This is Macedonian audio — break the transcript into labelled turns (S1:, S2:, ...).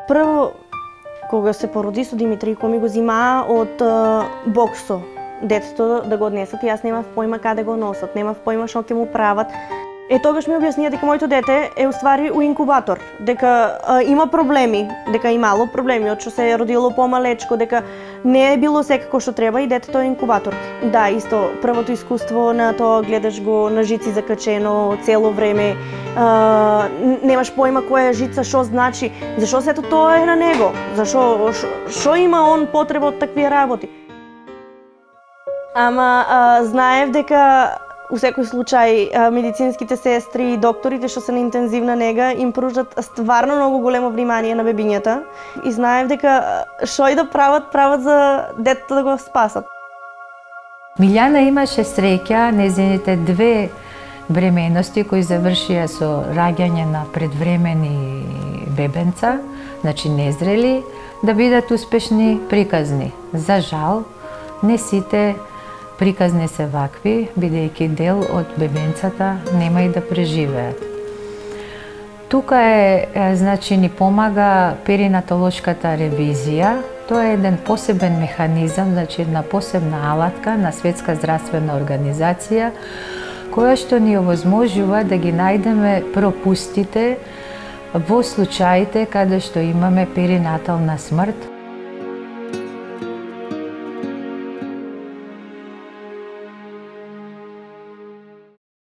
S1: Прво, кога се породи со Димитријко, ми го зимаа од боксо детето да го однесат и јас немав појма каде го носат, немав појма што ќе му прават. Тогаш ми објаснија дека моето дете е уствари у инкубатор, дека има проблеми, дека имало проблеми од што се е родило помалечко, дека не е било секако што треба и детето е инкубатор. Да, исто, првото искуство на тоа гледаш го на жици закачено цело време, немаш појма која е жица, што значи, зашо сето тоа е на него, зашо, што има он потреба од такви работи. Ама знаев дека у секој случај медицинските сестри и докторите што се на интензивна нега им пружат стварно многу големо внимание на бебињата и знаев дека што и да прават за детето да го спасат.
S2: Милјана имаше среќа нејзините две бременности кои завршија со раѓање на предвремени бебенца, значи незрели, да бидат успешни приказни. За жал, не сите приказни се вакви, бидејќи дел од бебенцата нема и да преживеат. Тука значи ни помага перинатолошката ревизија. Тоа е еден посебен механизам, значи една посебна алатка на Светска здравствена организација, која што ни овозможува да ги најдеме пропустите во случаите каде што имаме перинатална смрт.